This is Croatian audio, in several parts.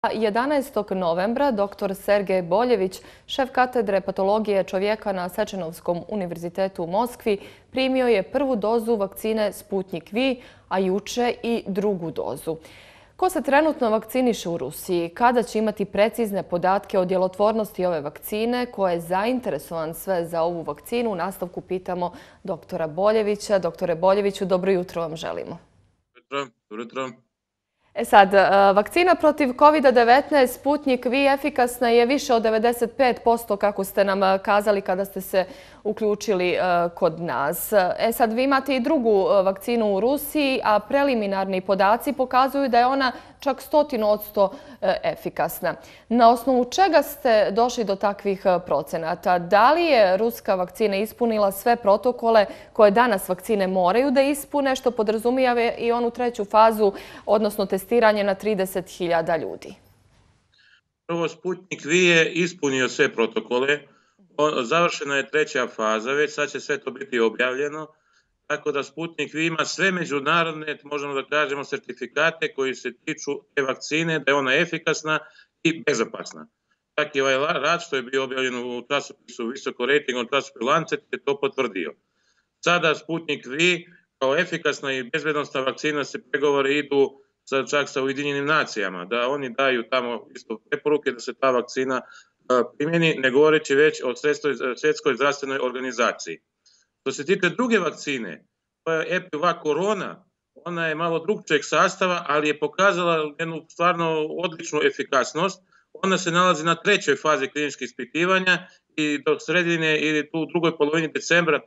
11. novembra dr. Sergej Boljević, šef katedre patologije čovjeka na Sečenovskom univerzitetu u Moskvi, primio je prvu dozu vakcine Sputnik V, a juče i drugu dozu. Ko se trenutno vakciniše u Rusiji? Kada će imati precizne podatke o djelotvornosti ove vakcine? Ko je zainteresovan sve za ovu vakcinu? U nastavku pitamo dr. Boljevića. Doktore Boljeviću, dobro jutro vam želimo. Dobro jutro. Sad, vakcina protiv COVID-19 Sputnik V efikasna je više od 95%, kako ste nam kazali kada ste se uključili kod nas. Sad, vi imate i drugu vakcinu u Rusiji, a preliminarni podaci pokazuju da je ona čak 100% efikasna. Na osnovu čega ste došli do takvih procenata? Da li je ruska vakcina ispunila sve protokole koje danas vakcine moraju da ispune, što podrazumijeva i onu treću fazu, odnosno testiranje na 30.000 ljudi? Prvo, Sputnik V je ispunio sve protokole. Završena je treća faza, već sad će sve to biti objavljeno. Tako da Sputnik V ima sve međunarodne, možemo da kažemo, sertifikate koji se tiču te vakcine, da je ona efikasna i bezopasna. Čak i ovaj rad što je bio objavljen u časopisu visoko rejtingom časopisu Lancet je to potvrdio. Sada Sputnik V kao efikasna i bezbednosna vakcina se pregovori idu čak sa Ujedinjenim nacijama, da oni daju tamo isto preporuke da se ta vakcina primjeni, ne govoreći već o Svjetskoj zdravstvenoj organizaciji. Što se tiče druge vakcine, to je EpiVac Corona, ona je malo drugčijeg sastava, ali je pokazala jednu stvarno odličnu efikasnost. Ona se nalazi na trećoj fazi kliničkih ispitivanja i do sredine ili tu u drugoj polovini decembra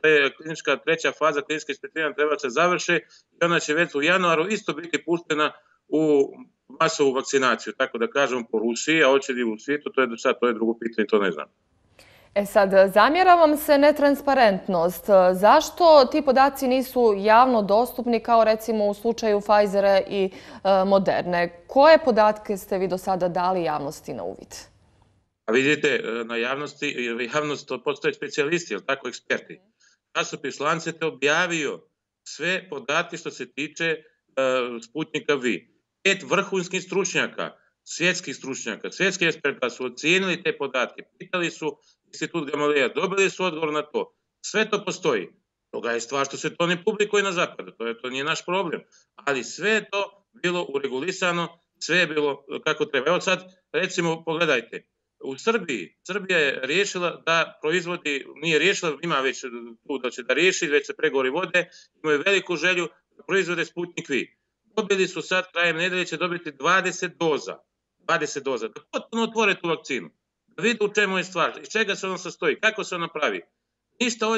treća faza kliničkih ispitivanja treba se završi i ona će već u januaru isto biti puštena u masovu vakcinaciju, tako da kažem po Rusiji, a hoće li u svijetu, to je drugo pitanje, to ne znam. Sad, zamjera vam se netransparentnost. Zašto ti podaci nisu javno dostupni kao recimo u slučaju Pfizera i Moderne? Koje podatke ste vi do sada dali javnosti na uvid? A vidite, na javnost postoje specijalisti, ali tako eksperti. Časopis Lancet je objavio sve podatke što se tiče Sputnika V. 5 vrhunskih stručnjaka, svjetskih stručnjaka, svjetskih eksperta su ocijenili te podatke, pitali su Institut Gamaleja, dobili su odgovor na to. Sve to postoji. Toga je stvar što se to ne publikuje na zapadu, to nije naš problem. Ali sve je to bilo uregulisano, sve je bilo kako treba. Evo sad, recimo, pogledajte, u Srbiji, Srbija je riješila da proizvodi, nije riješila, ima već tu da će da riješi, već se pregovori vode, imaju veliku želju da proizvode Sputnik V. Dobili su sad, krajem nedelje će dobiti 20 doza. 20 doza. Da potpuno otvore tu vakcinu. Da vide u čemu je stvar, iz čega se ona sastoji, kako se ona pravi. Ništa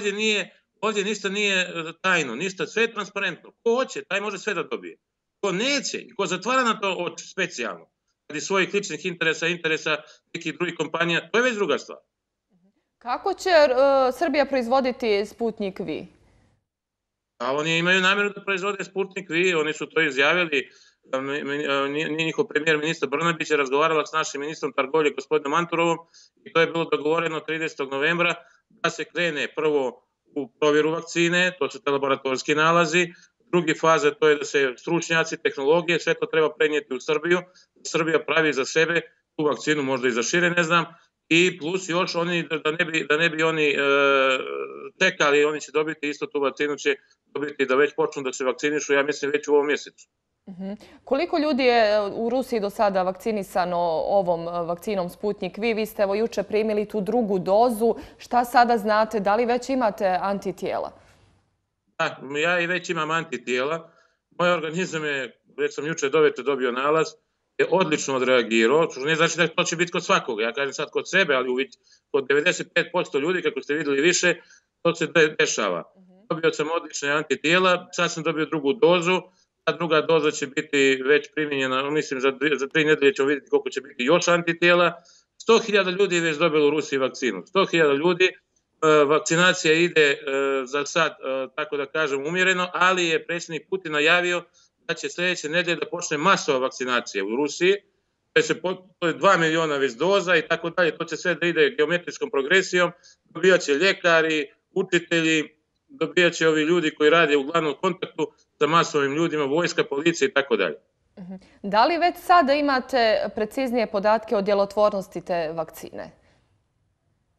ovdje ništa nije tajno, ništa, sve je transparentno. Ko hoće, taj može sve da dobije. Ko neće i ko zatvara na to oči specijalno, radi svojih ličnih interesa nekih drugih kompanija, to je već druga stvar. Kako će Srbija proizvoditi Sputnik V? A oni imaju namjeru da proizvode Sputnik V, oni su to izjavili. Njihov premijer, ministar Brnabić, je razgovarala s našim ministrom trgovine, gospodinom Manturovom, i to je bilo dogovoreno 30. novembra da se krene prvo u provjeru vakcine, to su te laboratorijski nalazi, drugi faza to je da se stručnjaci, tehnologije, sve to treba prenijeti u Srbiju, Srbija pravi za sebe tu vakcinu, možda i za šire, ne znam, i plus još oni, da ne bi oni čekali, oni će dobiti isto tu vakcinu, će dobiti da već počnu da se vakcinišu, ja mislim već u ovom mjesecu. Koliko ljudi je u Rusiji do sada vakcinisano ovom vakcinom Sputnik V? Vi ste evo juče primili tu drugu dozu. Šta sada znate? Da li već imate antitijela? Da, ja i već imam antitijela. Moj organizam je, već sam juče dovečer dobio nalaz, je odlično odreagirao. Ne znači da to će biti kod svakoga. Ja kažem sad kod sebe, ali kod 95% ljudi, kako ste vidjeli više, to se dešava. Dobio sam odlične antitijela, sad sam dobio drugu dozu. Ta druga doza će biti već primjenjena, mislim za 3 nedelje ćemo vidjeti koliko će biti još antitijela. 100.000 ljudi je već dobilo u Rusiji vakcinu. 100.000 ljudi, vakcinacija ide za sad, tako da kažem, umjereno, ali je predsjednik Putin najavio da će sljedeće nedelje da počne masova vakcinacija u Rusiji. To je 2 miliona već doza i tako dalje. To će sve da ide geometrijskom progresijom. Dobijat će ljekari, učitelji, dobijat će ovi ljudi koji rade u glavnom kontaktu sa masovim ljudima, vojska, policija i tako dalje. Da li već sada imate preciznije podatke o djelotvornosti te vakcine?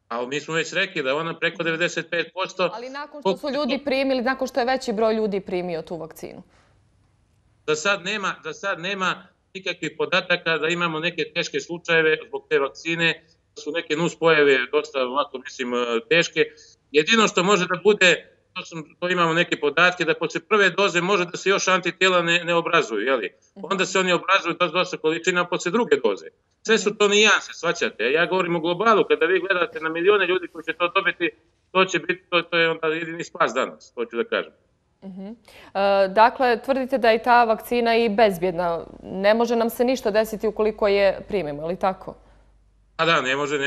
A mi smo već rekli da je ona preko 95%. Ali nakon što su ljudi primili, nakon što je veći broj ljudi primio tu vakcinu? Za sad nema nikakvih podataka da imamo neke teške slučajeve zbog te vakcine, da su neke nuspojave dosta, ovako mislim, teške. Jedino što može da bude, to imamo neke podatke, da posle prve doze može da se još antitijela ne obrazuju, jeli? Onda se oni obrazuju dosta količina posle druge doze. Sve su to nijanse, shvaćate. Ja govorim o globalu, kada vi gledate na milione ljudi koji će to dobiti, to će biti, to je onda jedini spas danas, to ću da kažem. Dakle, tvrdite da je ta vakcina i bezbjedna. Ne može nam se ništa desiti ukoliko je primimo, ili tako? A da, ne može,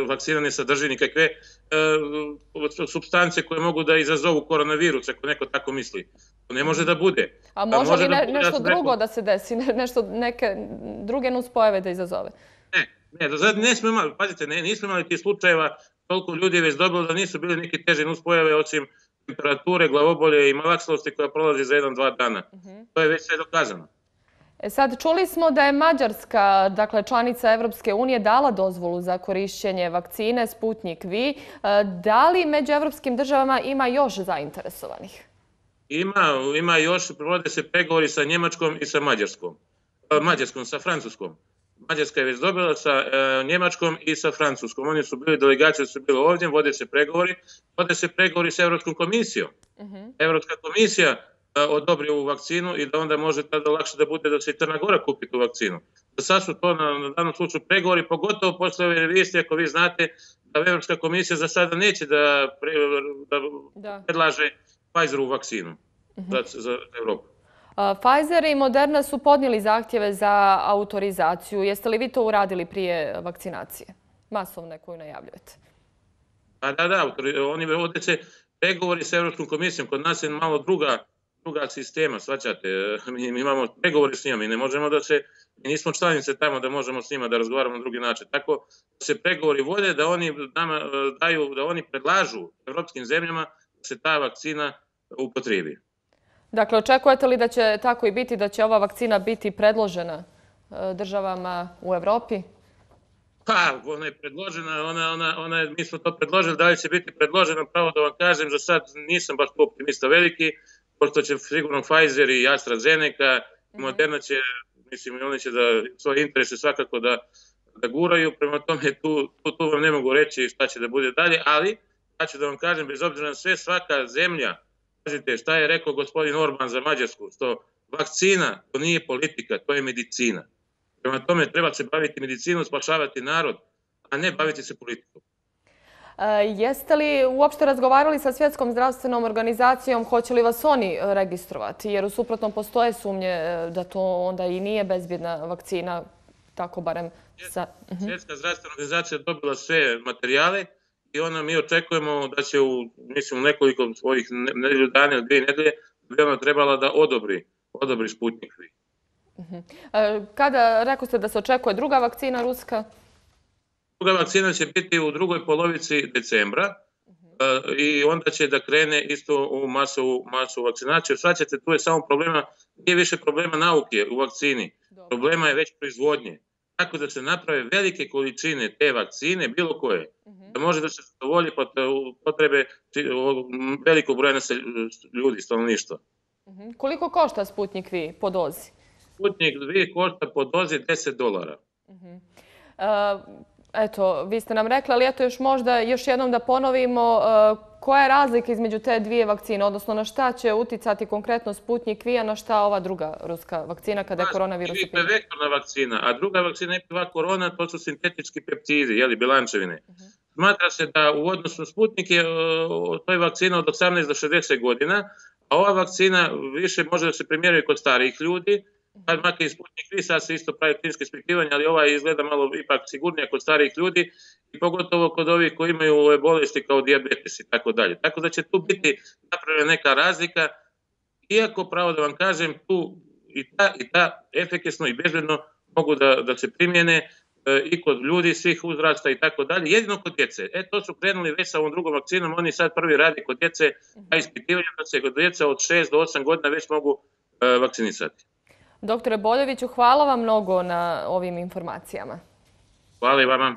vakcina ne sadrži nikakve supstance koje mogu da izazovu koronavirus, ako neko tako misli. To ne može da bude. A može li nešto drugo da se desi, neke druge nuspojave da izazove? Ne, do sada nismo imali, pazite, nismo imali tih slučajeva, toliko ljudi je već dobilo da nisu bili neki teži nuspojave, osim temperature, glavobolje i malaksalosti koja prolazi za 1-2 dana. To je već sve dokazano. Sad, čuli smo da je Mađarska, dakle članica Evropske unije, dala dozvolu za korišćenje vakcine Sputnik V. Da li među evropskim državama ima još zainteresovanih? Ima još, provode se pregovori sa Njemačkom i sa sa Francuskom. Mađarska je već dobila sa Njemačkom i sa Francuskom. Oni su bili, delegacije su bile ovdje, vode se pregovori sa Evropskom komisijom. Evropska komisija odobri ovu vakcinu i da onda može tada lakše da bude da se i Crna Gora kupi tu vakcinu. Da sad su to na danom slučaju pregovori, pogotovo posle ove revizije, ako vi znate da Evropska komisija za sada neće da predlaže Pfizerovu vakcinu za Evropu. Pfizer i Moderna su podnijeli zahtjeve za autorizaciju. Jeste li vi to uradili prije vakcinacije? Masovne koju najavljujete. Da, oni vode se pregovori sa Evropskom komisijom. Kod nas je malo druga sistema, shvaćate. Mi imamo pregovori s njima, mi ne možemo mi nismo članice tamo da možemo s njima da razgovaramo na drugi način. Tako se pregovori vode da oni nama daju, da oni predlažu evropskim zemljama da se ta vakcina upotrebi. Dakle, očekujete li da će tako i biti, da će ova vakcina biti predložena državama u Evropi? Pa, ona je predložena, mi smo to predložili, da li će biti predložena, pravo da vam kažem, za sad nisam baš optimista veliki, pošto će sigurno Pfizer i AstraZeneca, Moderna će, mislim, oni će da svoje interese svakako da guraju, prema tome tu vam ne mogu reći šta će da bude dalje, ali ja ću da vam kažem, bez obzira na sve, svaka zemlja, kažete šta je rekao gospodin Orban za Mađarsku, što vakcina, to nije politika, to je medicina. Prema tome treba se baviti medicinom, spašavati narod, a ne baviti se politikom. Jeste li uopšte razgovarali sa Svjetskom zdravstvenom organizacijom, hoće li vas oni registrovati? Jer u suprotnom postoje sumnje da to onda i nije bezbjedna vakcina, tako barem sa... Svjetska zdravstvena organizacija dobila sve materijale i mi očekujemo da će u nekoliko svojih nedelju dana ili 2 nedelje bi ona trebala da odobri Sputnik V. Kada rekao ste da se očekuje druga vakcina ruska? Druga vakcina će biti u drugoj polovici decembra i onda će da krene isto u masovu vakcinaciju. Svaćate, tu je samo problema, nije više problema nauke u vakcini, problema je već proizvodnje. Tako da se naprave velike količine te vakcine, bilo koje, da može da se zadovolji potrebe velikog broja ljudi, stanovništva. Koliko košta Sputnik V po dozi? Sputnik V košta po dozi $10. Eto, vi ste nam rekli, ali eto još jednom da ponovimo koja je razlika između te dvije vakcine, odnosno na šta će uticati konkretno Sputnik V, a na šta ova druga ruska vakcina kada je koronavirus u pitanju? To je vektorna vakcina, a druga vakcina je korona, to su sintetički peptidi, bilančevine. Smatra se da u odnosu Sputnik to je vakcina od 18 do 60 godina, a ova vakcina više može da se primjeruje kod starijih ljudi, makar i Sputnik V, sad se isto pravi kliničko ispitivanje, ali ova izgleda malo ipak sigurnija kod starijih ljudi i pogotovo kod ovih koji imaju ove bolesti kao dijabetes i tako dalje. Tako da će tu biti napravljena neka razlika, iako pravo da vam kažem, tu i ta efikasno i bezbedno mogu da se primjene i kod ljudi svih uzrasta i tako dalje, jedino kod djece. To su krenuli već sa ovom drugom vakcinom, oni sad prvi radi kod djece, a ispitivanje da se kod djeca od 6 do 8 godina već mogu vakcinisati. Doktore Boljeviću, hvala vam mnogo na ovim informacijama. Hvala i vama.